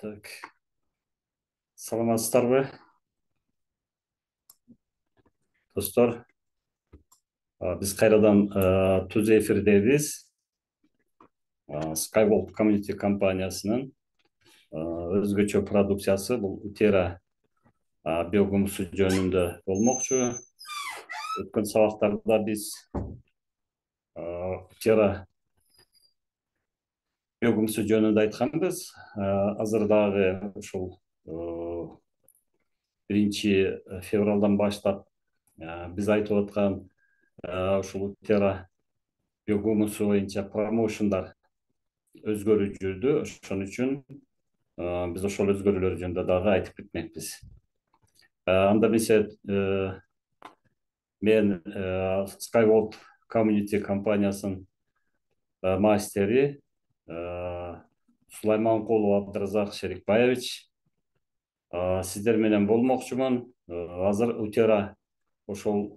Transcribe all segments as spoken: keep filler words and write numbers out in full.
Так. Саламатсыздарбы, достор? Биз кайрадан түз эфирдебиз. Skyworld Community компаниясынын өзгөчө продукциясы бул утера биогумусу жөнүндө болмокчу. Өткөн сабактарда биз утера биогумусу жөнүндө айтканбыз. Азыр дагы ушул биринчи февралдан баштап биз айтып аткан ушул утера биогумусу боюнча промоушндар өзгөрүп жүрдү. Ошон үчүн биз ошол өзгөрүүлөр жөнүндө дагы айтып кетмекпиз. Анда эмесе мен Skyworld Community компаниясынын мастери Сулайманкулов Абдыразак Шерикбаевич сиздер менен болмокчумун. Азыр утера ошол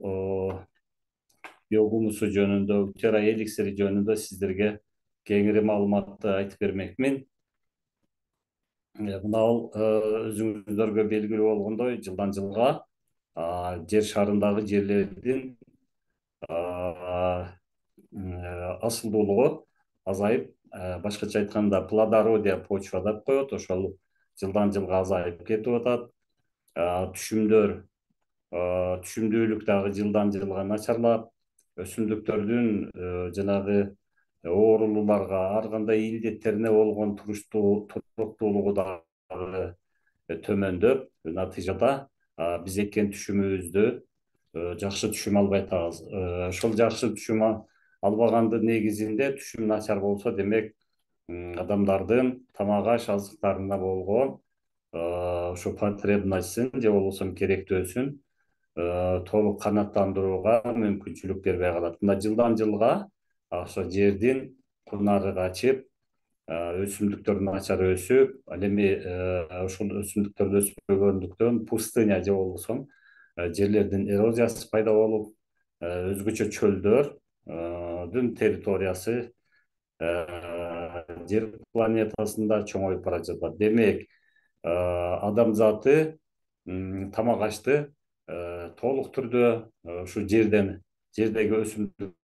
биогумусу жөнүндө, утера эликсири жөнүндө сиздерге кеңири маалыматты айтып бермекмин. Мына ал өзүңүздөргө белгилүү болгондой, жылдан жылга жер шарындагы жерлердин асылдуулугу азайып, башкача айтканда плодородие почва деп коет, ошол жылдан жылга азайып кетип атат. Түшүмдөр, түшүмдүүлүк дагы жылдан жылга начарлап, өсүмдүктөрдүн жанагы оорулууларга, ар кандай илдеттерине болгон туруктуулугу дагы төмөндөп, натыйжада биз эккен түшүмүбүздү жакшы түшүм албай атабыз. Ошол жакшы түшүм албагандын негизинде түшүм начар болсо, демек адамдардын тамак аш азыктарына болгон ошо потребностьун же болбосо керектөөсүн толук канааттандырууга мүмкүнчүлүк бербей калат. Мына жылдан жылга ошо жердин кунары качып, өсүмдүктөр начар өсүп, ал эми ошол өсүмдүктөр өспөгөндүктөн пустыня же болбосо жерлердин эрозиясы пайда болуп, өзгөчө чөлдөрдүн территориясы жер планетасында чоңоюп бара жатат. Демек, адамзаты тамак ашты толук түрдө ушу жерден, жердеги өсүмдүктөрдөн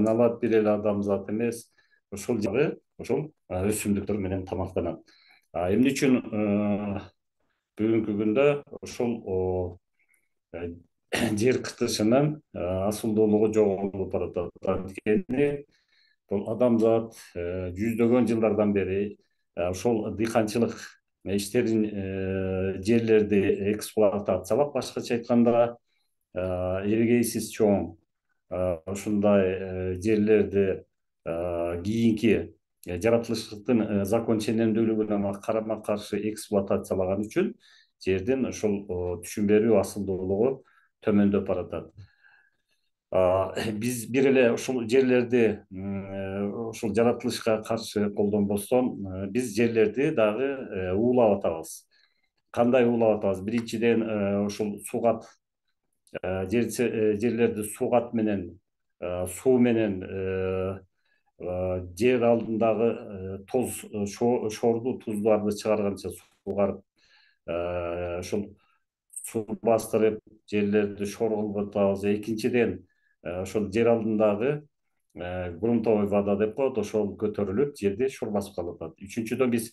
алат, бир эле адамзат эмес, ошол жагы ошол өсүмдүктөр менен тамактанат. Эмне үчүн бүгүнкү күндө ошол жер кытышынын асылдуулугу жоголуп баратат? Анткени бул адамзат жүздөгөн жылдардан бери ошол дыйканчылык иштерин, жерлерди эксплуатациялап, башкача айтканда эрегейсиз чоң ушундай жерлерди кийинки жаратылыштын закон ченемдүүлүгүнө карама каршы эксплуатациялаган үчүн жердин ошол түшүм берүү асылдуулугу төмөндөп баратат. Биз бир эле ушул жерлерди ушул жаратылышка каршы колдонбостон, биз жерлерди дагы уулап атабыз. Кандай уулап атабыз? Биринчиден, ушул сугат, жерлерди сугат менен, суу менен, жер алдындагы тоз, шорду туздарды чыгарганча сугарып, ушул суу бастырып, жерлерди шор кылып атабыз. Экинчиден, ошол жер алдындагы грунтовый вода деп коет, ошол көтөрүлүп, жерди шор басып калып атат. Үчүнчүдөн, биз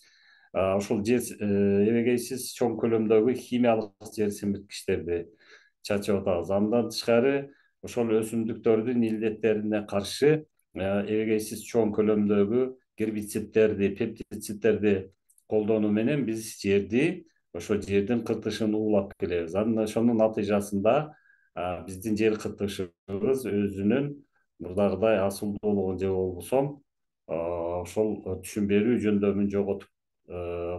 ошол жер эрегейсиз чоң көлөмдөгү химиялык жер семирткичтерди чачып атабыз. Андан тышкары, ошол өсүмдүктөрдүн илдеттерине каршы эрегейсиз чоң көлөмдөгү гербицидтерди, пептицидтерди колдонуу менен биз жерди, ошо жердин кыртышын уулап келебиз. Анан ошонун натыйжасында биздин жер кыртышыбыз өзүнүн мурдагыдай асылдуулугун же болбосо ошол түшүм берүү жөндөмүн жоготуп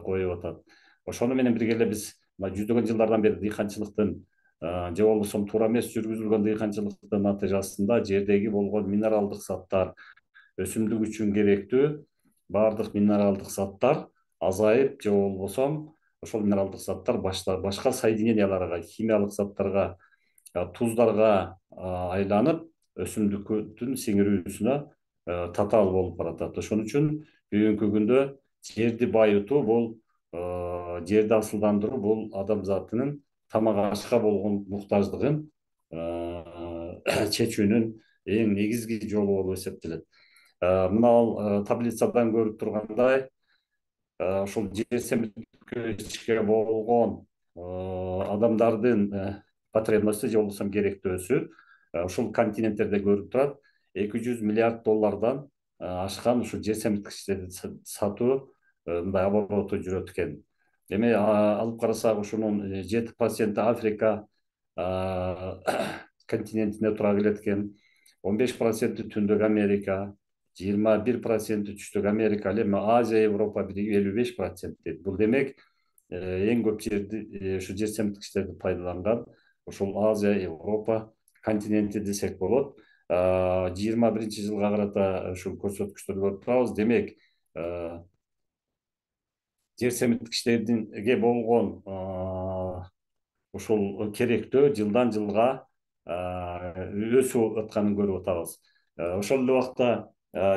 коюп атат. Ошону менен бирге эле биз жүздөгөн жылдардан бери дыйканчылыктын же болбосо туура эмес жүргүзүлгөн дыйканчылыктын натыйжасында жердеги болгон минералдык заттар, өсүмдүк үчүн керектүү баардык минералдык заттар азайып, же болбосо ошол минералдык заттар башка соединенияларга, химиялык заттарга, туздарга айланып, өсүмдүктүн сиңирүүсүнө татаал болуп баратат. Ошон үчүн бүгүнкү күндө жерди байытуу бул, жерди асылдандыруу бул адамзатынын тамак ашка болгон муктаждыгын чечүүнүн эң негизги жолу болуп эсептелет. Мына ал таблицадан көрүп тургандай, ошол жер семирткичке болгон адамдардын потребности же болбосо керектөөсү ушул континенттерде көрүп турат. эки жүз миллиард доллардан ашкан ушул жер семирткичтерди сатуу мындай обороту жүрөт экен. Эми алып карасак, ушунун жети проценти Африка континентинде тура келет экен, он беш проценти Түндүк Америка, жыйырма бир проценти Түштүк Америка, ал эми Азия, Европа биригип элүү беш процент дейт. Бул демек эң көп жерди, ушу жер семирткичтерди пайдаланган ошол Азия, Европа континенти десек болот. жыйырма биринчи жылга карата ушул көрсөткүчтөрдү көрүп турабыз. Демек, жер семирткичтерге болгон ушул керектөө жылдан жылга өсүп атканын көрүп атабыз. Ошол эле убакта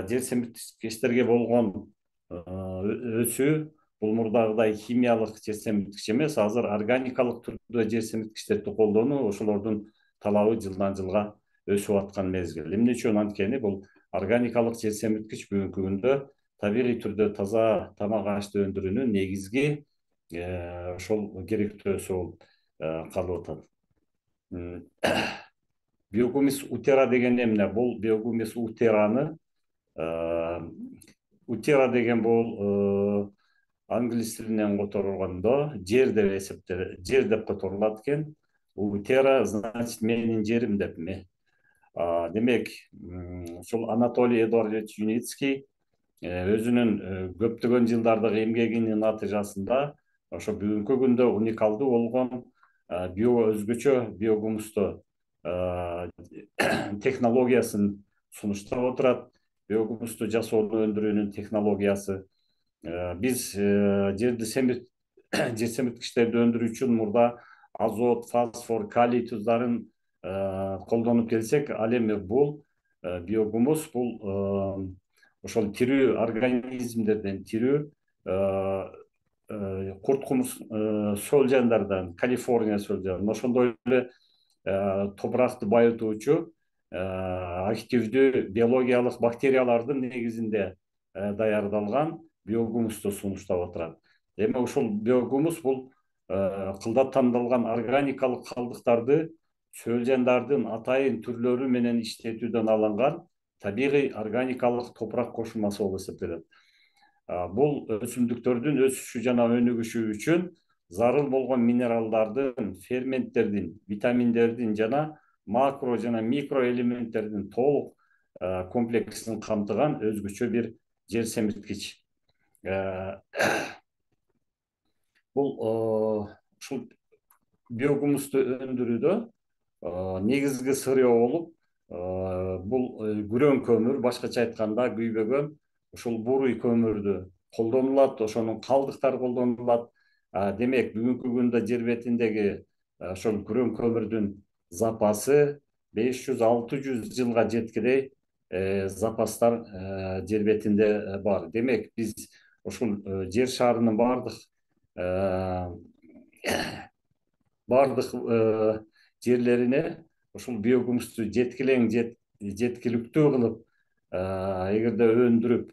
жер семирткичтерге болгон өсүү бул мурдагыдай химиялык жер семирткич эмес, азыр органикалык түрдө жер семирткичтерди колдонуу, ошолордун талабы жылдан жылга өсүп аткан мезгил. Эмне үчүн анткени бул органикалык жер семирткич бүгүнкү күндө табигый түрдө таза тамак ашты өндүрүүнүн негизги ошол керектөөсү болуп калып атат. Биогумус утера деген эмне? Бул биогумус утераны, утера деген бул англис тилинен которулгондо жер деп эсептелет, жер деп которулат экен. Утера значит менин жерим деп ме. Демек, ушул Анатолий Эдуардович Юницкий өзүнүн көптөгөн жылдардык эмгегинин натыйжасында ошо бүгүнкү күндө уникалдуу болгон био өзгөчө биогумусту технологиясын сунуштап отурат. Биогумусту жасоонун өндүрүүнүн технологиясы. Биз жерди жер семирткичтерди өндүрүү үчүн мурда азот, фосфор, калий туздарын колдонуп келсек, ал эми бул биогумус бул ошол тирүү организмдерден, тирүү курт кумус сөлжандардан, Калифорния сөлжаны, ошондой эле топуракты байытуучу активдүү биологиялык бактериялардын негизинде даярдалган биогумусту сунуштап отурат. Эми ушул биогумус бул кылдаттандырылган органикалык калдыктарды сөлжандардын атайын түрлөрү менен иштетүүдөн алынган табигый органикалык топурак кошулмасы болуп эсептелет. Бул өсүмдүктөрдүн өсүшү жана өнүгүшү үчүн зарыл болгон минералдардын, ферменттердин, витаминдердин жана макро жана микро элементтердин толук комплексин камтыган өзгөчө бир жер семирткич. Бул ушул биогумусту өндүрүүдө негизги сырье болуп бул күрөң көмүр, башкача айтканда күйбөгөн ушул буруй көмүрдү колдонулат, ошонун калдыктары колдонулат. Демек, бүгүнкү күндө жер бетиндеги ошол күрөң көмүрдүн запасы беш жүз алты жүз жылга жеткидей запастар жер бетинде бар. Демек, биз ушул жер шарынын бардык бардык жерлерине ушул биогумусту жеткилең, жеткиликтүү кылып, эгерде өндүрүп,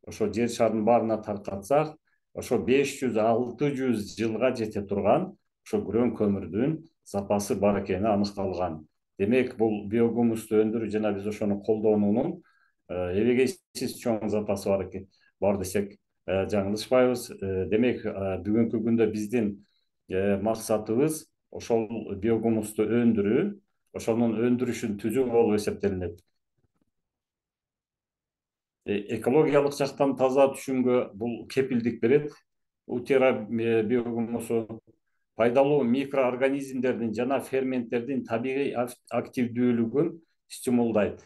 ошо жер шарынын баарына таркатсак, ошо беш жүз алты жүз жылга жете турган ошо күрөң көмүрдүн запасы бар экени аныкталган. Демек, бул биогумусту өндүрүү жана биз ошону колдонуунун эбегейсиз чоң запасы бар экен, бар десек жаңылышпайбыз. Демек, бүгүнкү күндө биздин максатыбыз ошол биогумусту өндүрүү, ошонун өндүрүшүн түзүү болуп эсептелинет. Экологиялык жактан таза түшүмгө бул кепилдик берет. Утера биогумусу пайдалуу микроорганизмдердин жана ферменттердин табигый активдүүлүгүн стимулдайт.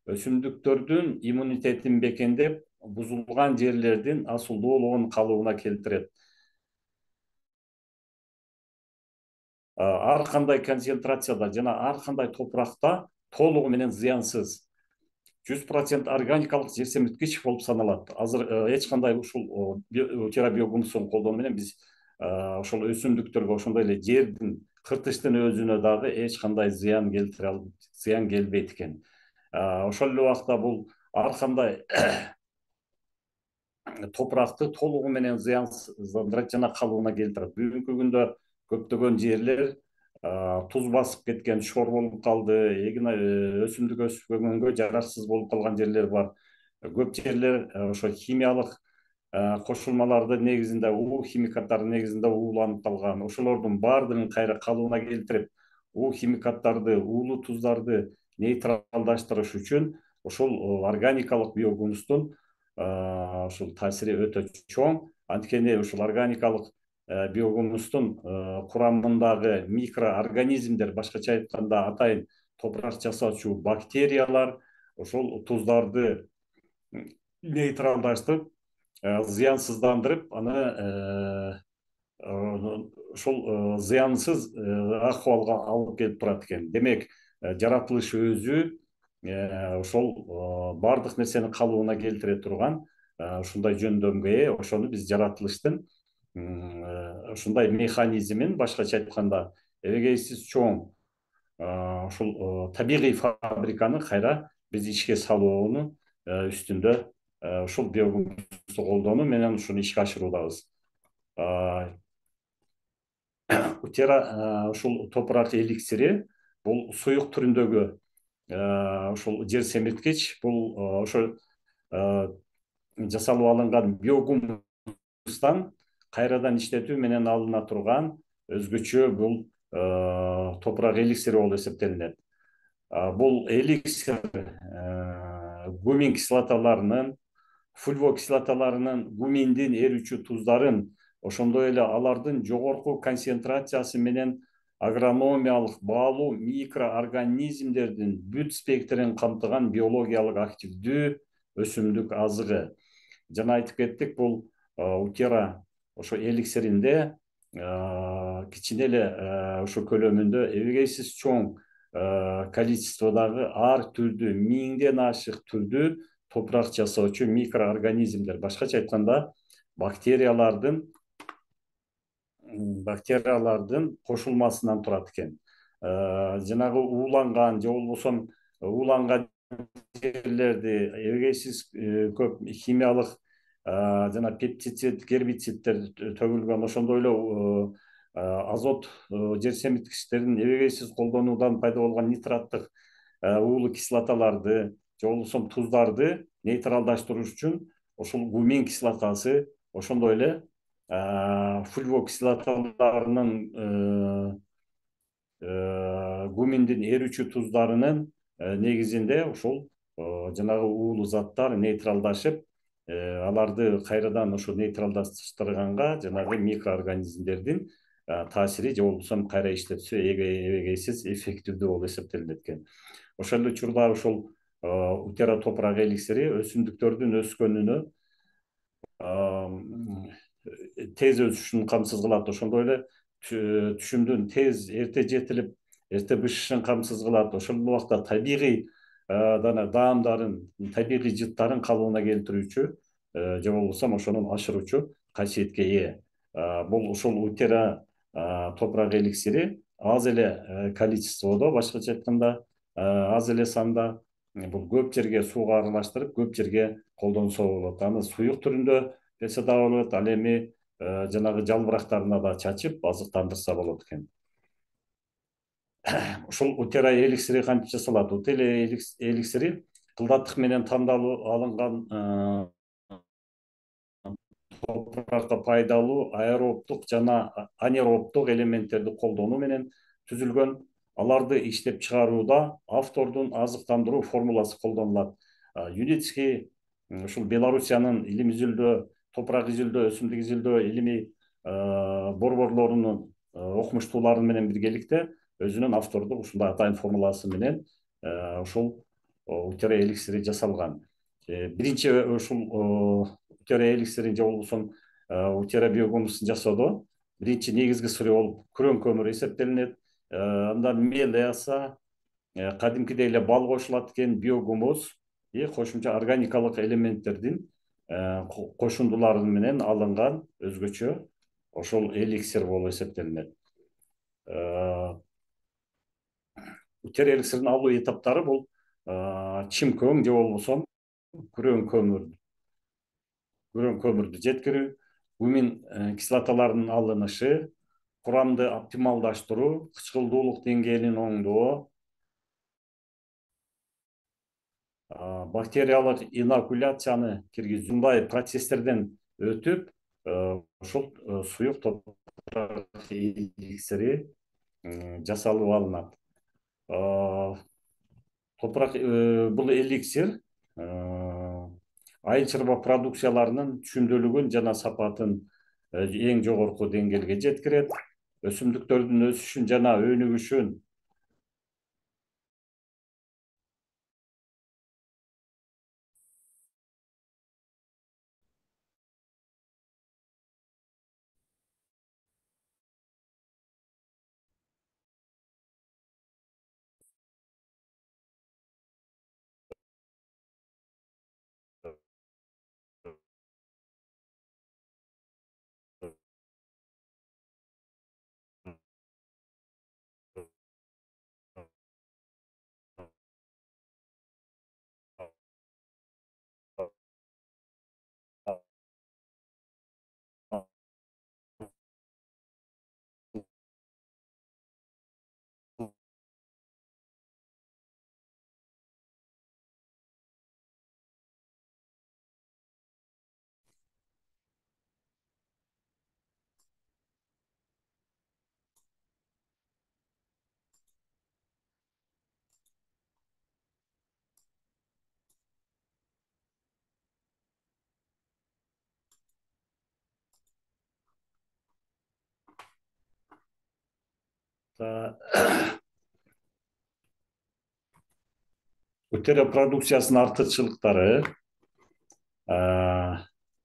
Өсүмдүктөрдүн иммунитетин бекемдеп, бузулган жерлердин асылдуулугун калыбына келтирет. Ар кандай концентрацияда жана ар кандай топуракта толугу менен зыянсыз. жүз процент органикалык жер семирткич болуп саналат. Азыр эч кандай ушул утера биогумусун колдонуу менен биз ошол өсүмдүктөргө ошондой эле жердин кыртыштын өзүнө дагы эч кандай зыян келтире ал зыян келбейт экен. Ошол эле убакта бул ар кандай топуракты толугу менен зыяндандырат жана калыбына келтирет. Бүгүнкү күндө көптөгөн жерлер туз басып кеткен, шор болуп калды, эгин өсүмдүк өспөгөнгө жараксыз болуп калган жерлер бар. Көп жерлер ошо химиялык кошулмалардын негизинде, уу химикаттардын негизинде ууланып калган. Ошолордун баардыгын кайра калыбына келтирип, уу химикаттарды, уулуу туздарды нейтралдаштырыш үчүн ушул органикалык биогумустун ушул таасири өтө чоң. Анткени ушул органикалык биогумустун курамындагы микроорганизмдер, башкача айтканда атайын топурак жасоочу бактериялар ошол туздарды нейтралдаштырып, зыянсыздандырып, аны ошол зыянсыз акыбалга алып келип турат экен. Демек, жаратылыш өзү ошол баардык нерсени калыбына келтире турган ушундай жөндөмгө ээ. Ошону биз жаратылыштын ушундай механизмин, башкача айтканда, эбегейсиз чоң ушул табигый фабриканы кайра биз ишке салууну үстүндө ушул биогумусту колдонуу менен ушуну ишке ашыруудабыз. Утера ушул топурак эликсири бул суюк түрүндөгү ушул жер семирткич. Бул ошо жасалып алынган биогумустан кайрадан иштетүү менен алына турган өзгөчө бул топурак эликсири болуп эсептелинет. Бул эликсир гумин кислоталарынын, фульвокислоталарынын, гуминдин эрүүчү туздарын, ошондой эле алардын жогорку концентрациясы менен агрономиялык баалуу микроорганизмдердин бүт спектрин камтыган биологиялык активдүү өсүмдүк азыгы. Жана айтып кеттик, бул утера ошо эликсиринде кичине эле ошо көлөмүндө эбегейсиз чоң количестводагы ар түрдүү, миңден ашык түрдүү топурак жасоочу микроорганизмдер, башкача айтканда бактериялардын бактериялардын кошулмасынан турат экен. Жанагы ууланган же болбосо ууланган жерлерди эбегейсиз көп химиялык жана пептицид, гербициддер төгүлгөн, ошондой эле азот жер семирткичтерин эбегейсиз колдонуудан пайда болгон нитраттык уулуу кислоталарды же болбосо туздарды нейтралдаштыруу үчүн ушул гумин кислотасы, ошондой эле фульвокислоталарынын, гуминдин эрүүчү туздарынын негизинде ушул жанагы уулуу заттар нейтралдашып, аларды кайрадан ошо нейтралдаштырганга жанагы микроорганизмдердин таасири же болбосо кайра иштетүүсү эбегейсиз эффективдүү болуп эсептелинет экен. Ошол эле учурда ушул утера топурак эликсири өсүмдүктөрдүн өскөнүнө тез өсүшүн камсыз кылат. Ошондой эле түшүмдүн тез эрте жетилип, эрте бышышын камсыз кылат. Ошол убакта табигый даамдарын, табигый жыттарын калыбына келтирүүчү же болбосо ошонун ашыруучу касиетке ээ. Бул ушул утера топурак эликсири аз эле количестводо, башкача айтканда аз эле санда, бул көп жерге сууга аралаштырып, көп жерге колдонсо болот. Аны суюк түрүндө берсе дагы болот, ал эми жанагы жалбырактарына да чачып азыктандырса болот экен. Ушул утера эликсири кантип жасалат? Утера эликсири кылдаттык менен тандалып алынган топуракка пайдалуу аэробдук жана анэробдук элементтерди колдонуу менен түзүлгөн. Аларды иштеп чыгарууда автордун азыктандыруу формуласы колдонулат. ЮНЕСКО ушул Белоруссиянын илим изилдөө, топурак изилдөө, өсүмдүк изилдөө илимий борборлорунун окумуштуулары менен биргеликте өзүнүн автордук ушундай атайын формуласы менен ушул утера эликсири жасалган. Биринчи ушул утера эликсирин же болбосо утера биогумустун жасоодо биринчи негизги сыры болуп күрөң көмүр эсептелинет. Андан мел эаса, кадимкидей эле бал кошулат экен, биогумус, и кошумча органикалык элементтердин кошундулары менен алынган өзгөчө ошол эликсир болуп эсептелинет. Утер эликсирин алуу этаптары бул чимкөң же болбосо күрөң көмүр күрөң көмүрдү жеткирүү, гумин кислоталарынын алынышы, курамды оптималдаштыруу, кычкылдуулук деңгээлин оңдоо, бактериялык инокуляцияны киргизүү, мындай процесстерден өтүп ушул суюк топурак эликсири жасалып алынат. Топурак бул эликсир айыл чарба продукцияларынын түшүмдүүлүгүн жана сапатын эң жогорку деңгээлге жеткирет. Өсүмдүктөрдүн өсүшүн жана өнүгүшүн Утер продукциясынын артыкчылыктары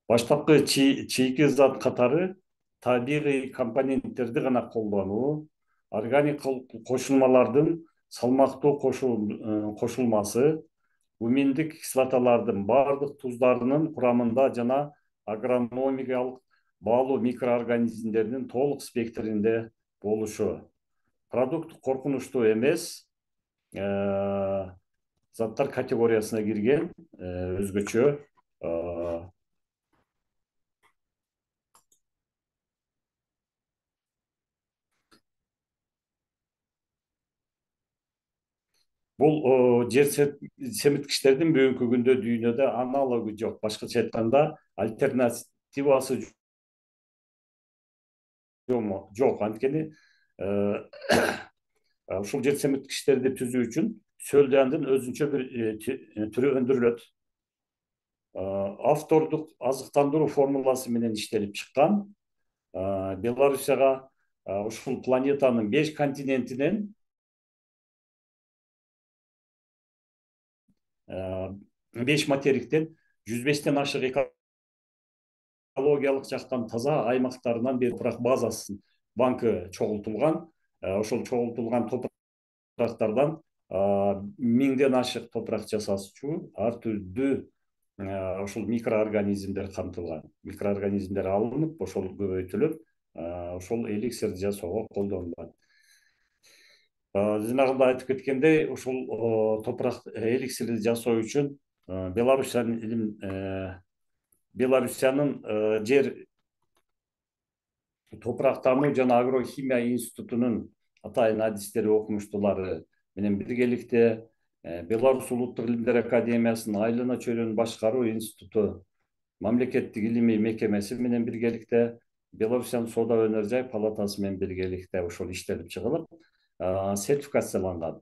баштапкы чийки зат катары табигый компоненттерди гана колдонуу, органик кошулмалардын салмактуу кошулмасы, гуминдик кислоталардын бардык туздарынын курамында жана агрономикалык баалуу микроорганизмдердин толук спектринде болушу. Продукт коркунучтуу эмес заттар категориясына кирген өзгөчө бул жер семирткичтердин бүгүнкү күндө дүйнөдө аналогу жок. Башкача айтканда альтернативасы жок. Анткени ушул жер семирткичтерди түзүү үчүн сөлдяндын өзүнчө бир түрү өндүрүлөт. Автордук азыктандыруу формуласы менен иштелип чыккан. Белоруссияга ушул планетанын беш континентинен беш материктен жүз бештен ашык экологиялык жактан таза аймактарынан бир топурак базасынын банкы чогултулган. Ошол чогултулган топурактардан миңден ашык топурак жасаучу ар түрдүү ошол микроорганизмдер камтылган. Микроорганизмдер алынып, ошол көбөйтүлүп, ошол эликсирди жасоого колдонулат. Жанагындай айтып кеткендей, ушул топурак эликсирди жасоо үчүн Белоруссиянын Белоруссиянын жер топурактануу жана агрохимия институтунун атайын адистери, окумуштуулары менен биргеликте Беларусь улуттук илимдер академиясынын Айлана чөйрөнү башкаруу институту, мамлекеттик илимий мекемеси менен биргеликте, Белоруссиянын соода өнөр жай палатасы менен биргеликте ошол иштелип чыгылып, сертификацияланган.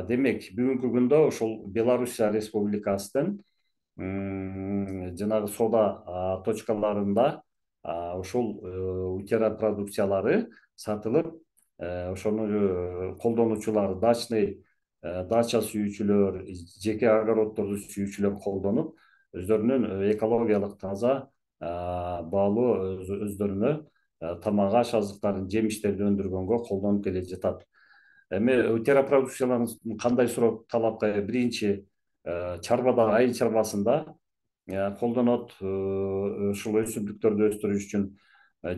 Демек, бүгүнкү күндө ошол Белоруссия республикасынын жанагы соода точкаларында ошол утера продукциялары сатылып, ошону колдонуучулар, дачный дача сүйүүчүлөр, жеке огороддорду сүйүүчүлөр колдонуп, өздөрүнүн экологиялык таза баалуу өздөрүнө тамак аш азыктарын, жемиштерди өндүргөнгө колдонуп келе жатат. Эми утера продукцияларын кандай суроо талапка? Биринчи, чарбада, айыл чарбасында колдонот. Ушул өсүмдүктөрдү өстүрүш үчүн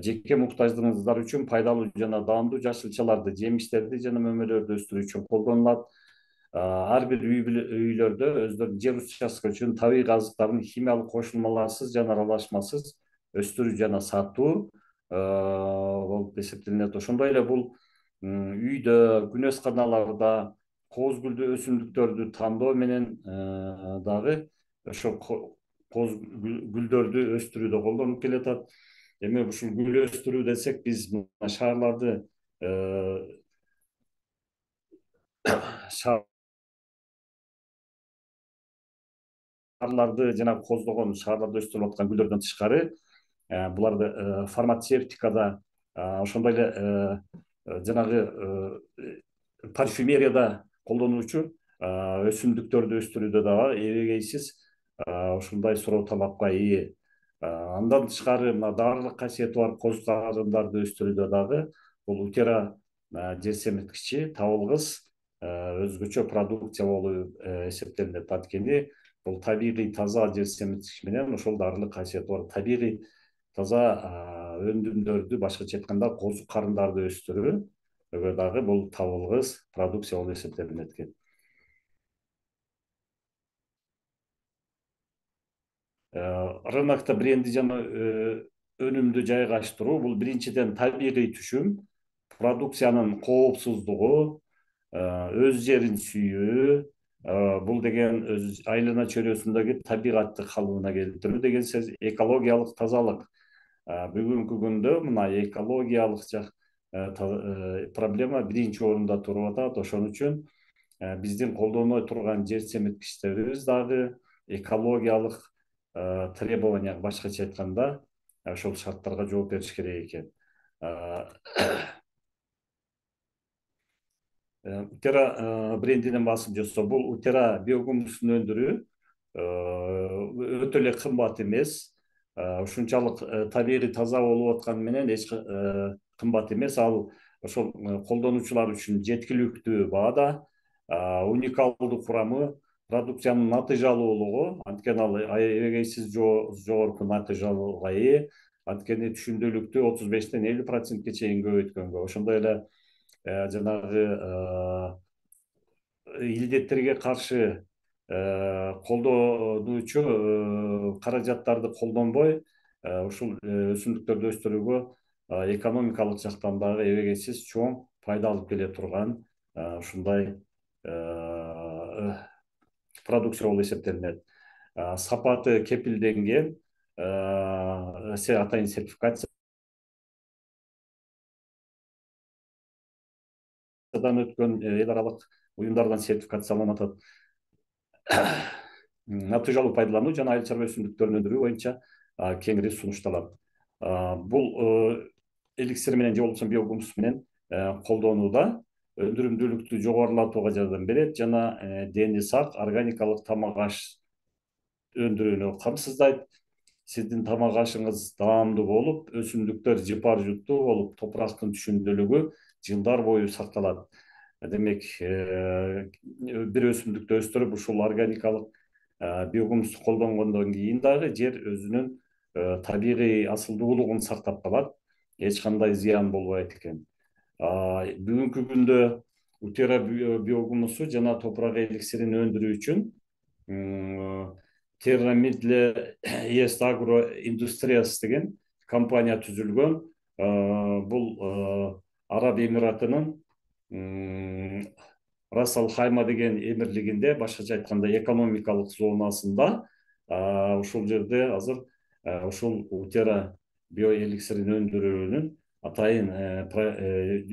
жеке муктаждыгыңыздар үчүн пайдалуу жана даамдуу жашылчаларды, жемиштерди жана мөмөлөрдү өстүрүү үчүн колдонулат. Ар бир үйлөрдө өздөрүнүн жер участкасы үчүн табигый азыктардын химиялык кошулмаларсыз жана аралашмасыз өстүрүү жана сатуу болуп эсептелинет. Ошондой эле бул үйдө, күнөс каналарда кооз гүлдүү өсүмдүктөрдү тандоо менен дагы ошо кооз гүлдөрдү өстүрүүдө колдонуп келатат. Демек ушул гүл өстүрүү десек, биз шаарларды шаарларды жана кооздогон шаарларда өстүрүлүп аткан гүлдөрдөн тышкары, буларды фармацевтикада, ошондой эле жанагы парфюмерияда колдонулуучу өсүмдүктөрдү өстүрүүдө дагы эбегейсиз ушундай суроо талапка ээ. Андан тышкары мына дарылык касиети бар коз карындарды өстүрүүдө дагы бул утера жер семирткичи табылгыс өзгөчө продукция болуп эсептелинет. Анткени бул табигый таза жер семирткич менен ошол дарылык касиети бар табигый таза өндүмдөрдү, башкача айтканда коз карындарды өстүрүүгө дагы бул табылгыс продукция болуп эсептелинет экен. Рынокто бренди жана өнүмдү жайгаштыруу бул биринчиден табигый түшүм, продукциянын коопсуздугу, өз жерин сүйүү, бул деген өз айлана чөйрөсүндөгү табигатты калыбына келтирүү деген сөз, экологиялык тазалык. Бүгүнкү күндө мына экологиялык проблема биринчи орунда туруп атат. Ошон үчүн биздин колдоной турган жер семирткичтерибиз дагы экологиялык требования, башкача айтканда, ошол шарттарга жооп бериш керек экен. Утера брендинин басым жасоо, бул утера биогумусун өндүрүү өтө эле кымбат эмес. Ушунчалык табигый таза болуп атканы менен эч кымбат эмес. Ал ошол колдонуучулар үчүн жеткиликтүү баада, уникалдуу курамы, продукциянын натыйжалуулугу, анткени ал эбегейсиз жогорку натыйжалууга ээ. Анткени түшүмдүүлүктү отуз бештен элүү процентке чейин көбөйткөнгө, ошондой эле жанагы илдеттерге каршы колдонуучу каражаттарды колдонбой, ушул өсүмдүктөрдү өстүрүүгө экономикалык жактан дагы эбегейсиз чоң пайда алып келе турган ушундай продукция болуп эсептелинет. Сапаты кепилденген, атайын сертификациядан өткөн эл аралык уюмдардан сертификацияланып атат. Натыйжалуу пайдалануу жана айыл чарба өсүмдүктөрүн өндүрүү боюнча кеңири сунушталат. Бул эликсир менен же болбосо биогумус менен колдонууда өндүрүмдүүлүктү жогорулатууга жардам берет жана дени сак органикалык тамак аш өндүрүүнү камсыздайт. Сиздин тамак ашыңыз даамдуу болуп, өсүмдүктөр жыпар жуттуу болуп, топурактын түшүмдүүлүгү жылдар бою сакталат. Демек, бир өсүмдүктү өстүрүп, ушул органикалык биогумусту колдонгондон кийин дагы жер өзүнүн табигый асылдуулугун сактап калат, эч кандай зыян болбойт экен. Бүгүнкү күндө утера биогумусу жана топурак эликсирин өндүрүү үчүн Terramidle Est Agro Industrias деген компания түзүлгөн. Бул Араб Эмиратынын Рас Ал Хайма деген эмирлигинде, башкача айтканда экономикалык зонасында, ушул жерде азыр ушул утера биоэликсирин өндүрүүнүн атайын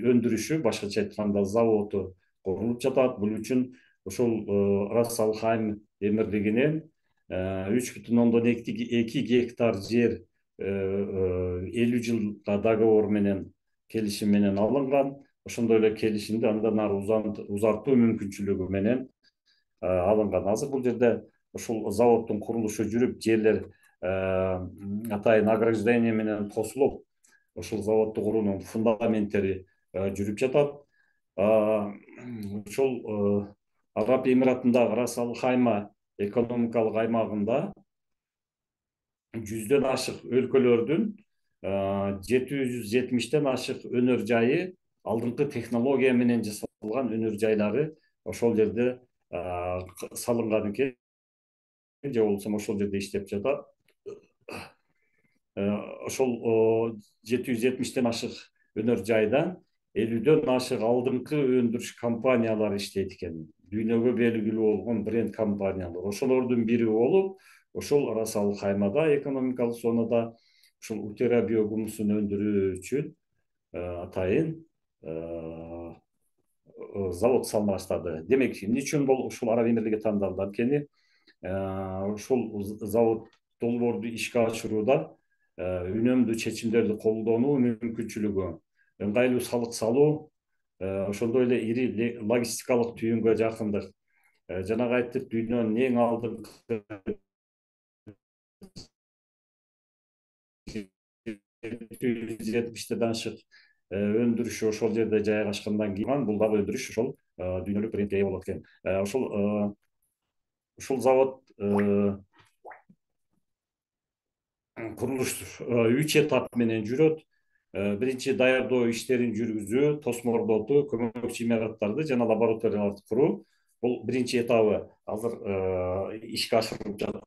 өндүрүшү, башкача айтканда заводу курулуп жатат. Бул үчүн ушул Рас Ал Хайм эмирлигинен үч бүтүн ондон эки гектар жер элүү жылга договор менен, келишим менен алынган. Ошондой эле келишимди андан ары узартуу мүмкүнчүлүгү менен алынган. Азыр бул жерде ушул заводдун курулушу жүрүп, жерлер атайын ограждение менен косулуп, ушул заводду куруунун фундаменттери жүрүп жатат. Ушул Араб Эмиратындагы Рас Ал Хайма экономикалык аймагында жүздөн ашык өлкөлөрдүн жети жүз жетимиштен ашык өнөр жайы, алдыңкы технология менен жасалган өнөр жайлары ошол жерде салынган экен, же болбосо ошол жерде иштеп жатат. Ошол жети жүз жетимиштен ашык өнөр жайдан элүүдөн ашык алдыңкы өндүрүш компаниялары иштейт экен. Дүйнөгө белгилүү болгон бренд компаниялар. Ошолордун бири болуп, ошол арасал каймада экономикалык зонада ушул утера биогумусун өндүрүү үчүн атайын завод салына баштады. Демек, эмне үчүн бул ушул Араб Эмирлиги тандалды? Анткени ушул завод долбоорду ишке ашырууда үнөмдүү чечимдерди колдонуу мүмкүнчүлүгү, ыңгайлуу салык салуу, ошондой эле ири логистикалык түйүнгө жакындык. Жанагы айттык, дүйнөнүн эң алдыңкы жети жүз жетимиштен ашык өндүрүш ошол жерде жайгашкандан кийин бул дагы өндүрүш ошол дүйнөлүк брендке ээ болот экен. Ошол ушул завод курулуш үч этап менен жүрөт. Биринчи даярдоо иштерин жүргүзүү, тосмордотуу, көмөкчү имараттарды жана лабораторияларды куруу. Бул биринчи этабы азыр ишке ашырылып жатат.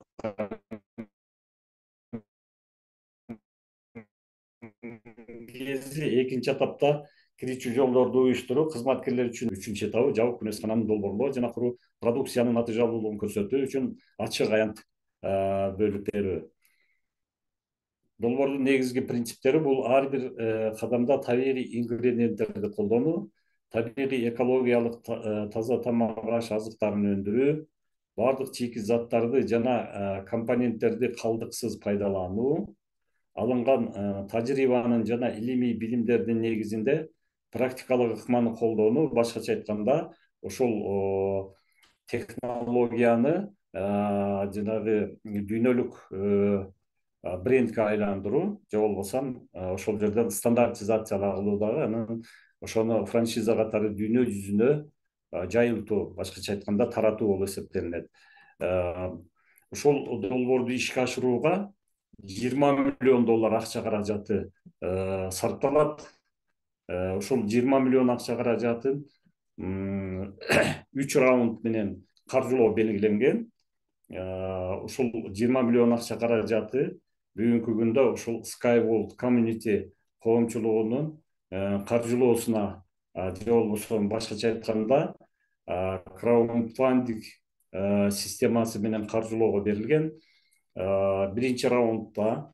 Экинчи этапта кирүүчү жолдорду уюштуруу, кызматкерлер үчүн үчүнчү этабы жабык күнөскананы долбоорлоо жана куруу, продукциянын натыйжалуулугун көрсөтүү үчүн ачык аянт бөлүп берүү. Долбоордун негизги принциптери бул ар бир кадамда табигый ингредиенттерди колдонуу, табигый экологиялык таза тамак-аш азыктарын өндүрүү, бардык чийки заттарды жана компоненттерди калдыксыз пайдалануу, алынган тажрыйбанын жана илимий билимдердин негизинде практикалык ыкманы колдонуу, башкача айтканда, ошол технологияны жанагы дүйнөлүк брендке айландыруу, же болбосо ошол жерден стандартизация кылуу дагы, анан ошону франшиза катары дүйнө жүзүнө жайылтуу, башкача айтканда таратуу болуп эсептелинет. Ошол долбоорду ишке ашырууга жыйырма миллион доллар акча каражаты сарпталат. Ошол жыйырма миллион акча каражатын үч раунд менен каржылоо белгиленген. Ушул жыйырма миллион акча каражаты бүгүнкү күндө ушул Skyworld Community коомчулугунун каржылоосуна, же болбосо башкача айтканда краудфандинг системасы менен каржылоого берилген. Биринчи раундда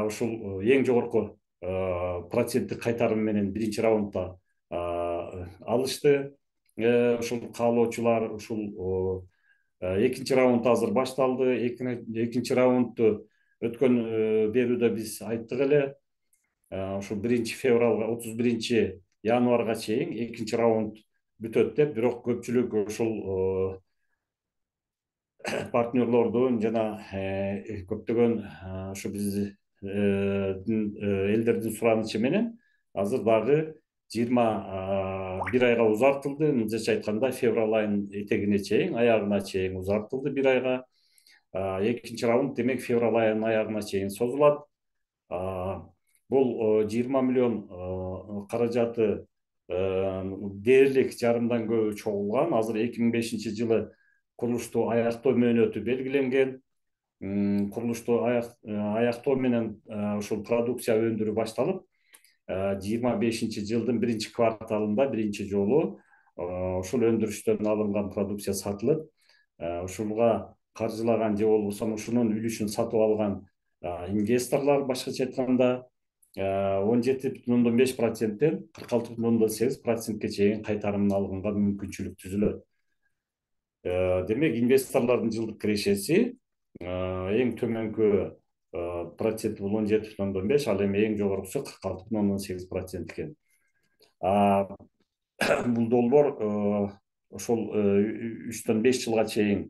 ушул эң жогорку проценттик кайтарым менен биринчи раундда алышты ушул каалоочулар. Ушул экинчи раунд азыр башталды. Экинчи раундду өткөн берүүдө биз айттык эле, ушул биринчи февралга, отуз биринчи январга чейин экинчи раунд бүтөт деп, бирок көпчүлүк ушул партнерлордун жана көптөгөн ушу биздин элдердин суранычы менен азыр дагы жыйырма бир айга узартылды. Мындайча айтканда, февраль айынын этегине чейин, аягына чейин узартылды бир айга. Экинчи раунд демек февраль айынын аягына чейин созулат. Бул жыйырма миллион каражаты дээрлик жарымдан көбү чогулган. Азыр эки миң бешинчи жылы курулушту аяктоо мөөнөтү белгиленген. Курулушту аяктоо менен ушул продукция өндүрүү башталып, жыйырма бешинчи жылдын биринчи кварталында биринчи жолу ушул өндүрүштөн алынган продукция сатылып, ушуга каржылаган же болбосо ушунун үлүшүн сатып алган инвесторлор, башкача айтканда, он жети бүтүн ондон беш проценттен кырк алты бүтүн ондон сегиз процентке чейин кайтарымын алганга мүмкүнчүлүк түзүлөт. Демек, инвесторлордун жылдык кирешеси эң төмөнкү процент бул он жети бүтүн ондон беш, ал эми эң жогоркусу кырк алты бүтүн ондон сегиз процент экен. Бул долбоор ошол үчтөн беш жылга чейин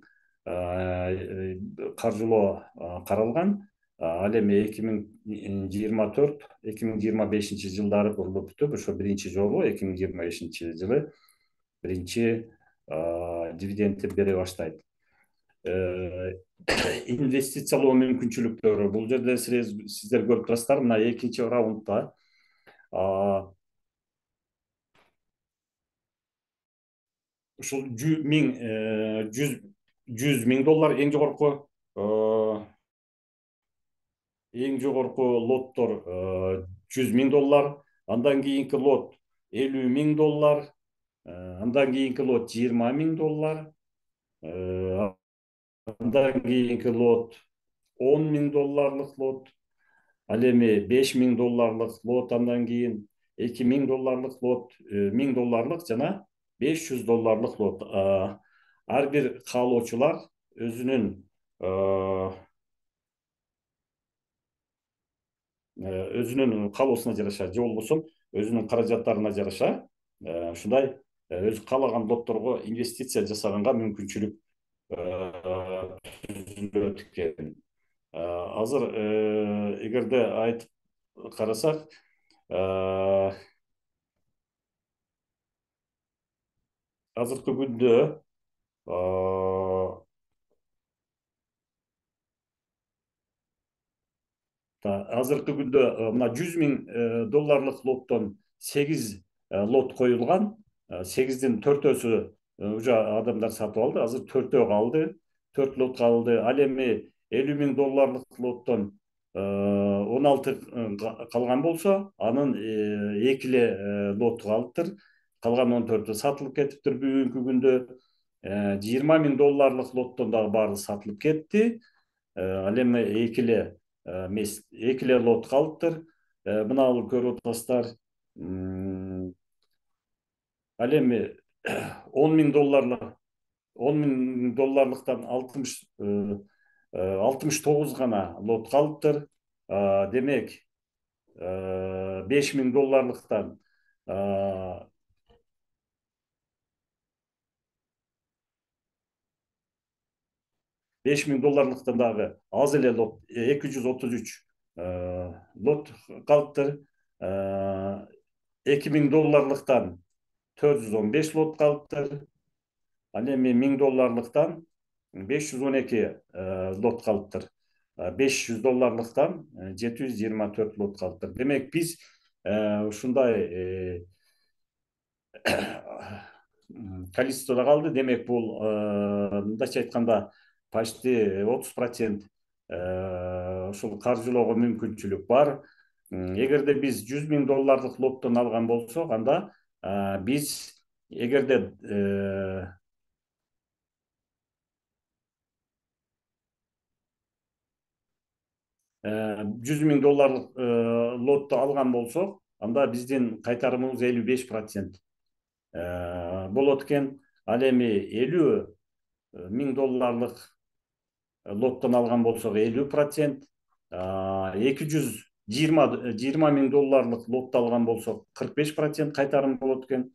каржылоо каралган. Ал эми эки миң жыйырма төрт эки миң жыйырма бешинчи жылдары курулуп бүтүп, ошо биринчи жолу эки миң жыйырма бешинчи жылы биринчи дивидендти бере баштайт. инвестициялоо мүмкүнчүлүктөрү. Бул жерде сиздер көрүп турасыздар, мына экинчи раундда ушул миң жүз жүз миң доллар эң жогорку эң жогорку лоттор жүз миң доллар, андан кийинки лот элүү миң доллар, андан кийинки лот жыйырма миң доллар, андан кийинки лот он миң долларлык лот, ал эми беш миң долларлык лот, андан кийин эки миң долларлык лот, миң долларлык жана беш жүз долларлык лот. Ар бир каалоочулар өзүнүн өзүнүн каалоосуна жараша же болбосо өзүнүн каражаттарына жараша ушундай өзү каалаган лотторго инвестиция жасаганга мүмкүнчүлүк түзүлөт экен. Азыр эгерде айтып карасак, азыркы күндө азыркы күндө мына жүз миң долларлык лоттон сегиз лот коюлган, сегиздин төртөөсү уже адамдар сатып алды, азыр төртөө калды, төрт лот калды. Ал эми элүү миң долларлык лоттон он алты калган болсо, анын эки эле лоту калыптыр, калган он төртү сатылып кетиптир бүгүнкү күндө. жыйырма миң долларлык лоттон дагы баары сатылып кетти. Ал эми эки эле эмес, эки эле лот калыптыр. Мына көрүп атасыздар. Ал эми он миң долларлык он миң долларлыктан алтымыш алтымыш тогуз гана лот калыптыр. Демек, беш миң долларлыктан беш миң долларлыктан дагы аз эле лот, эки жүз отуз үч лот калыптыр. эки миң долларлыктан төрт жүз он беш лот калыптыр. Ал эми миң долларлыктан беш жүз он эки лот калыптыр. беш жүз долларлыктан жети жүз жыйырма төрт лот калыптыр. Демек, биз ушундай количестводо калды. Демек, бул мындайча айтканда почти отуз процент ушул каржылоого мүмкүнчүлүк бар. Эгерде биз жүз миң долларлык лоттон алган болсок, анда биз эгерде жүз миң долларлык лотту алган болсок, анда биздин кайтарымыбыз элүү беш процент болот экен. Ал эми элүү миң долларлык лоттон алган болсок элүү процент, эки жүз жыйырма миң долларлык лотту алган болсок кырк беш процент кайтарым болот экен.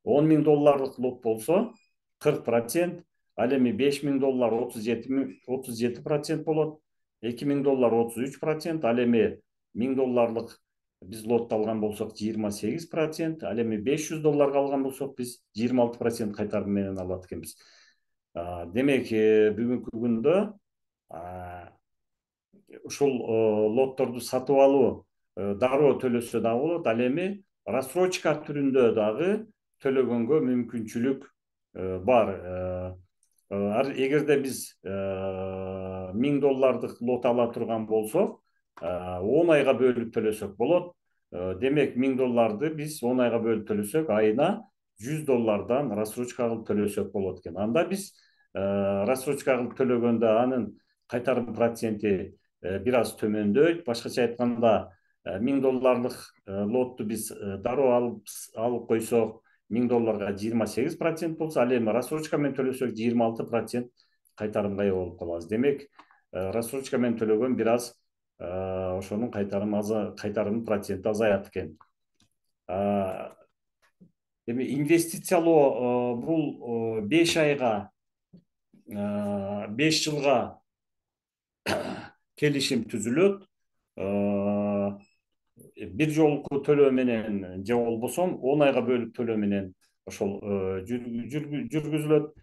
он миң долларлык лот болсо кырк процент, ал эми беш миң доллар отуз жети процент болот. эки миң доллар отуз үч процент, ал эми миң долларлык биз лот алган болсок жыйырма сегиз процент, ал эми беш жүз долларга алган болсок биз жыйырма алты процент кайтарым менен алат экенбиз. Демек, бүгүнкү күндө ушул лотторду сатып алуу дароо төлөсө дагы болот, ал эми рассрочка түрүндө дагы төлөгөнгө мүмкүнчүлүк бар. Эгерде биз миң доллардык лот ала турган болсок, он айга бөлүп төлөсөк болот. Демек, миң долларды биз он айга бөлүп төлөсөк, айына жүз доллардан рассрочка кылып төлөсөк болот экен. Анда биз рассрочка кылып төлөгөндө анын кайтарым проценти бир аз төмөндөйт. Башкача айтканда, миң долларлык лотту биз дароо алып койсок, миң долларга жыйырма сегиз процент болсо, ал эми рассрочка менен төлөсөк жыйырма алты процент кайтарымга ээ болуп калабыз. Демек, рассрочка менен төлөгөн бир аз ошонун кайтарым кайтарым проценти азаят экен. Эми инвестициялоо бул беш айга, беш жылга келишим түзүлөт. Бир жолку төлөө менен же болбосо он айга бөлүп төлөө менен ошол жүргүзүлөт.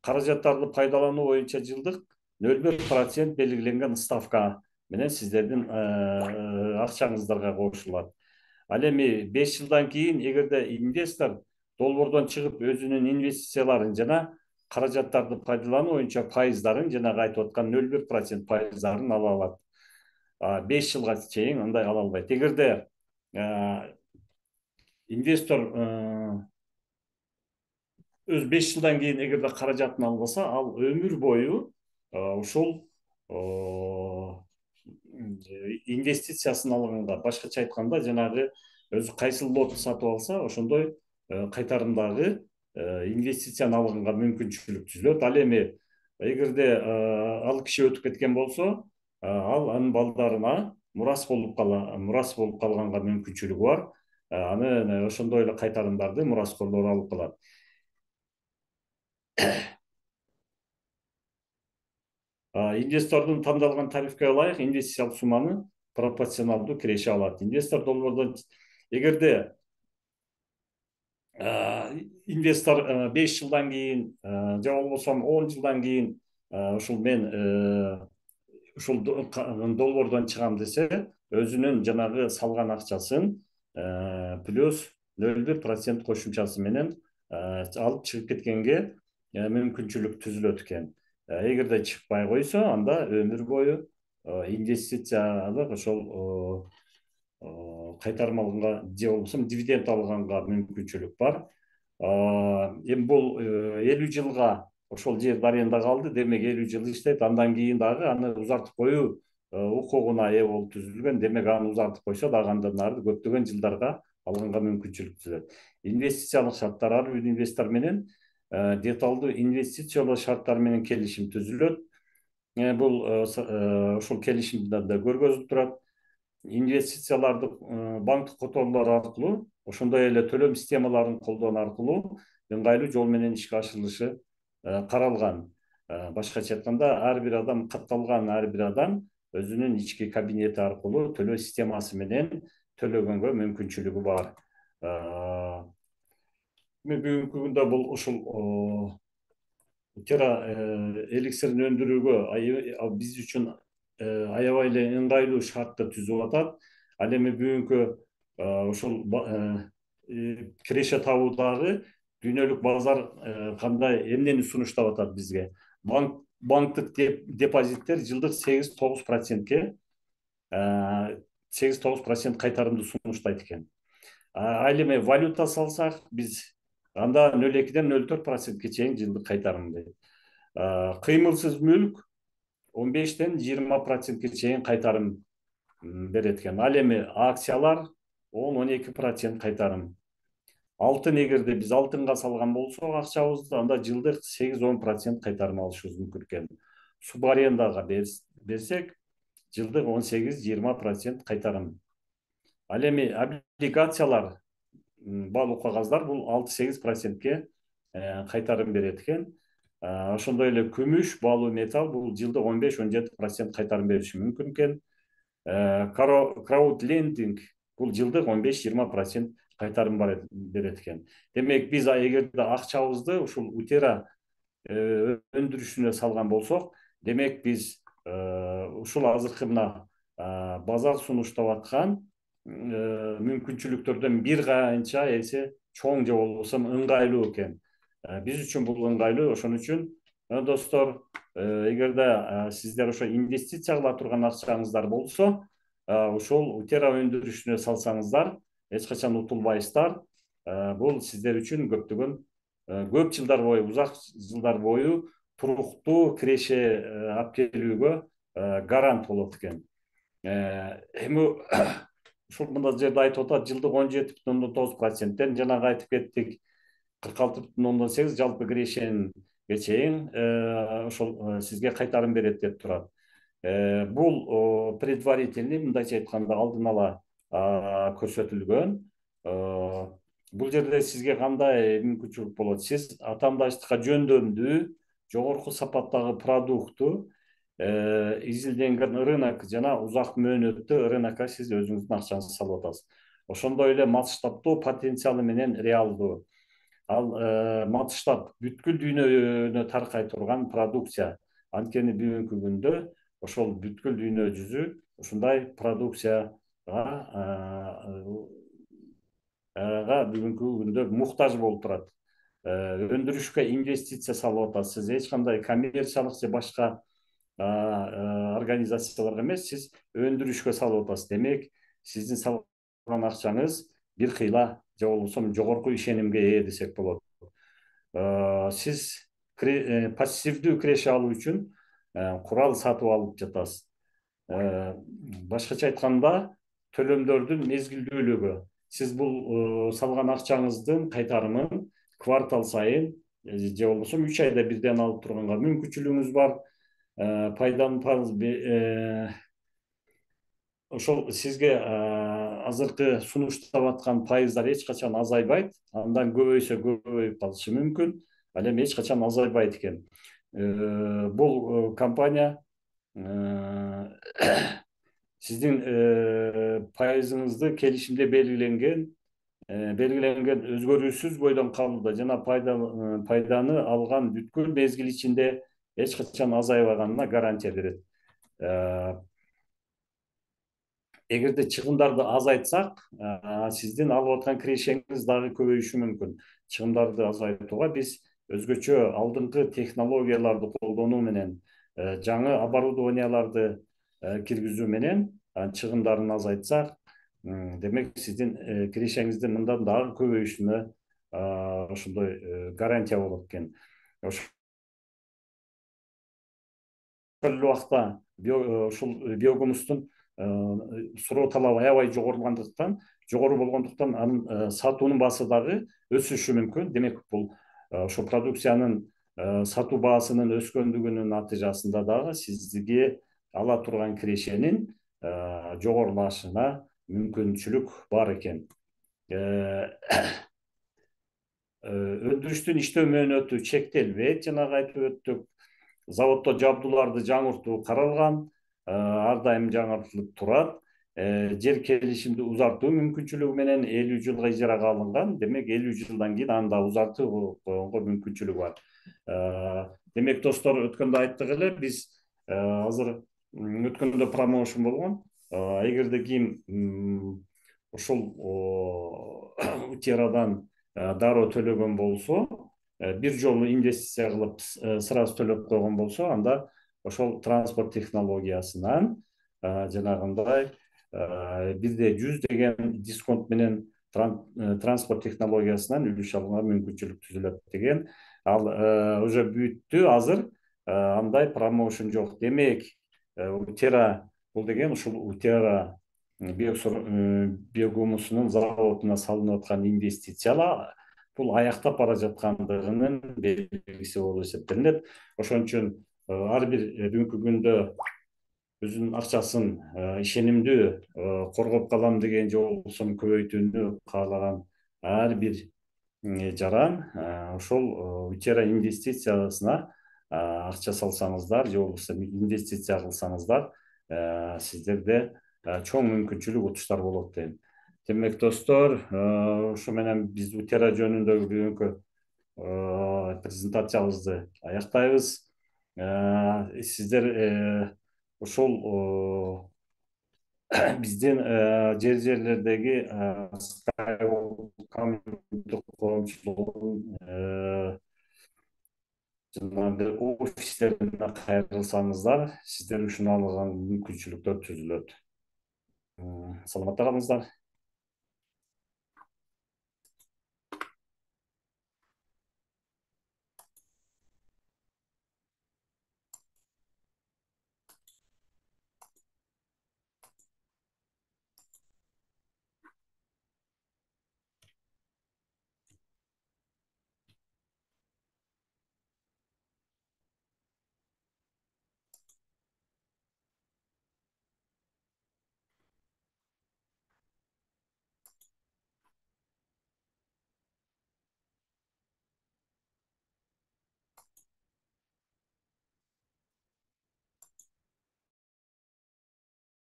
каражаттарды пайдалануу боюнча жылдык нөл бир процент белгиленген ставка менен сиздердин акчаңыздарга кошулат. Ал эми беш жылдан кийин эгерде инвестор долбоордон чыгып өзүнүн инвестицияларын жана каражаттарды пайдалануу боюнча пайыздарын жанагы айтып аткан нөл бир процент пайыздарын ала алат. беш жылга чейин андай ала албайт. Эгерде инвестор өз беш жылдан кийин эгерде каражатын албаса, ал өмүр бою ушул инвестициясын алганга, башкача айтканда жанагы өзү кайсыл лотты сатып алса, ошондой кайтарымдагы инвестицияны алганга мүмкүнчүлүк түзүлөт. Ал эми эгерде ал киши өтүп кеткен болсо, ал анын балдарына мурас болуп кала, мурас болуп калганга мүмкүнчүлүгү бар. Аны ошондой эле кайтарымдарды мураскорлор алып калат. Инвестордун тандалган тарифке ылайык инвестициялык сумманы пропорционалдуу киреше алат. Инвестор долбоордон эгерде инвестор беш жылдан кийин же болбосо он жылдан кийин ушул мен ушул долбоордон чыгам десе, өзүнүн жанагы салган акчасын плюс нөл бир процент кошумчасы менен алып чыгып кеткенге мүмкүнчүлүк түзүлөт экен. Эгерде чыкпай койсо, анда өмүр бою инвестициялык ошол кайтарым алганга же болбосо дивиденд алганга мүмкүнчүлүк бар. Эми бул элүү жылга ошол жер аренда калды, демек элүү жыл иштейт. Андан кийин дагы аны узартып коюу укугуна ээ болуп түзүлгөн. Демек аны узартып койсо дагы андан ары көптөгөн жылдарга алганга мүмкүнчүлүк түзөт. Инвестициялык шарттар ар бир инвестор менен деталдуу инвестициялык шарттар менен келишим түзүлөт. Бул ушул келишимде да көргөзүлүп турат. Инвестицияларды банктык которуулар аркылуу, ошондой эле төлөм системаларын колдоо аркылуу ыңгайлуу жол менен ишке ашырылышы каралган. Башкача айтканда, ар бир адам катталган, ар бир адам өзүнүн ички кабинети аркылуу төлөө системасы менен төлөгөнгө мүмкүнчүлүгү бар. Бүгүнкү күндө бул ушул Тера эликсирин өндүрүүгө биз үчүн аябай эле ыңгайлуу шартты түзүп атат. Ал эми бүгүнкү ушул киреше табуудагы дүйнөлүк базар кандай эмнени сунуштап атат бизге? Банктык депозиттер жылдык сегиз тогуз процентке сегиз тогуз процент кайтарымды сунуштайт экен. Ал эми валюта салсак, биз анда нөл экиден нөл төрт процентке чейин жылдык кайтарым дейт. Кыймылсыз мүлк он бештен жыйырма процентке чейин кайтарым берет экен. Ал эми акциялар он он эки процент кайтарым. Алтын, эгерде биз алтынга салган болсок акчабызды, анда жылдык сегиз он процент кайтарым алышыбыз мүмкүн экен. Субарендага берсек, жылдык он сегиз жыйырма процент кайтарым. Ал эми облигациялар, баалуу кагаздар, бул алты сегиз процентке кайтарым берет экен. Ошондой эле күмүш, баалуу металл, бул жылдык он беш он жети процент кайтарым бериши мүмкүн экен. Краудлендинг, бул жылдык он беш жыйырма процент кайтарым берет экен. Демек биз эгерде акчабызды ушул Утера өндүрүшүнө салган болсок, демек биз ушул азыркы мына базар сунуштап аткан мүмкүнчүлүктөрдөн бир канча эсе чоң же болбосо ыңгайлуу экен. Биз үчүн бул ыңгайлуу. Ошон үчүн достор, эгерде сиздер ошо инвестиция кыла турган акчаңыздар болсо, ушул Утера өндүрүшүнө салсаңыздар, эч качан утулбайсыздар. Бул сиздер үчүн көптөгөн көп жылдар бою, узак жылдар бою туруктуу киреше алып келүүгө гарант болот экен. Эми ушул мында жерде айтып атат, жылдык он жети бүтүн ондон тогуз проценттен жанагы айтып кеттик, кырк алты бүтүн ондон сегиз жалпы кирешенге чейин ошол сизге кайтарым берет деп турат. Бул предварительный, мындайча айтканда алдын ала көрсөтүлгөн. Бул жерде сизге кандай мүмкүнчүлүк болот? Сиз атаандаштыкка жөндөмдүү, жогорку сапаттагы продукту изилденген рынок жана узак мөөнөттүү рынокко сиз өзүңүздүн акчаңызды салып атасыз. Ошондой эле масштабдуу потенциалы менен реалдуу. ал матыштап бүткүл дүйнөнө таркай турган продукция. Анткени бүгүнкү күндө ошол бүткүл дүйнө жүзү ушундай продукцияга бүгүнкү күндө муктаж болуп турат. Өндүрүшкө инвестиция салып атасыз. Эч кандай коммерциялык же башка организацияларга эмес, сиз өндүрүшкө салып атасыз. Демек, сиздин салган акчаңыз бир кыйла же болбосо жогорку ишенимге ээ десек болот. Сиз пассивдүү киреше алуу үчүн курал сатып алып жатасыз. Башкача айтканда, төлөмдөрдүн мезгилдүүлүгү. Сиз бул салган акчаңыздын кайтарымын квартал сайын же болбосо үч айда бирден алып турганга мүмкүнчүлүгүңүз бар. Пайданы ошол сизге азыркы сунуштап аткан пайыздар эч качан азайбайт. Андан көбөйсө көбөйүп калышы мүмкүн. Ал эми эч качан азайбайт экен. Бул компания сиздин пайызыңызды келишимде белгиленген белгиленген өзгөрүүсүз бойдон калууда жана пайданы алган бүткүл мезгил ичинде эч качан азайбаганына гарантия берет. Эгерде чыгымдарды азайтсак, сиздин алып аткан кирешеңиз дагы көбөйүшү мүмкүн. Чыгымдарды азайтууга биз өзгөчө алдыңкы технологияларды колдонуу менен, жаңы оборудованияларды киргизүү менен чыгымдарын азайтсак, демек сиздин кирешеңиздин мындан дагы көбөйүшүнө ошондой гарантия болот экен. Ошол эле убакта ушул биогумустун суроо талабы аябай жогорулгандыктан, жогору болгондуктан анын сатуунун баасы дагы өсүшү мүмкүн. Демек, бул ошол продукциянын сатуу баасынын өскөндүгүнүн натыйжасында дагы сизге ала турган кирешенин жогорулашына мүмкүнчүлүк бар экен. Өндүрүштүн иштөө мөөнөтү чектелбейт, жанагы айтып өттүк. Заводдо жабдууларды жаңыртуу каралган, ар дайым жаңыртылып турат. Жер келишимди узартуу мүмкүнчүлүгү менен элүү жылга ижарага алынган. Демек, элүү жылдан кийин аны да узартууга мүмкүнчүлүгү бар. Демек, достор, өткөндө айттык эле, биз азыр өткөндө промоушн болгон. Эгерде ким ошол Утерадан дароо төлөгөн болсо, бир жолу инвестиция кылып сразу төлөп койгон болсо, анда ошол транспорт технологиясынан жанагындай бирде жүз деген дисконт менен транспорт технологиясынан үлүш алууга мүмкүнчүлүк түзүлөт деген. Ал уже бүттү азыр, андай промоушн жок. Демек, Утера бул деген ушул Утера биогумусунун заводуна салынып аткан инвестициялар бул аяктап бара жаткандыгынын белгиси болуп эсептелинет. Ошон үчүн ар бир бүгүнкү күндө өзүнүн акчасын ишенимдүү коргоп калам деген же болбосо көбөйтүүнү каалаган ар бир жаран ошол Утера инвестициясына акча салсаңыздар же болбосо инвестиция кылсаңыздар, сиздерде чоң мүмкүнчүлүк, утуштар болот дейм. Демек, достор, ушу менен биз Утера жөнүндөгү бүгүнкү презентациябызды аяктайбыз. Сиздер ушул биздин жер жерлердеги коомчулугунун жанагы офистерине кайрылсаңыздар, сиздер ушуну алган мүмкүнчүлүктөр түзүлөт. Саламатта калыңыздар.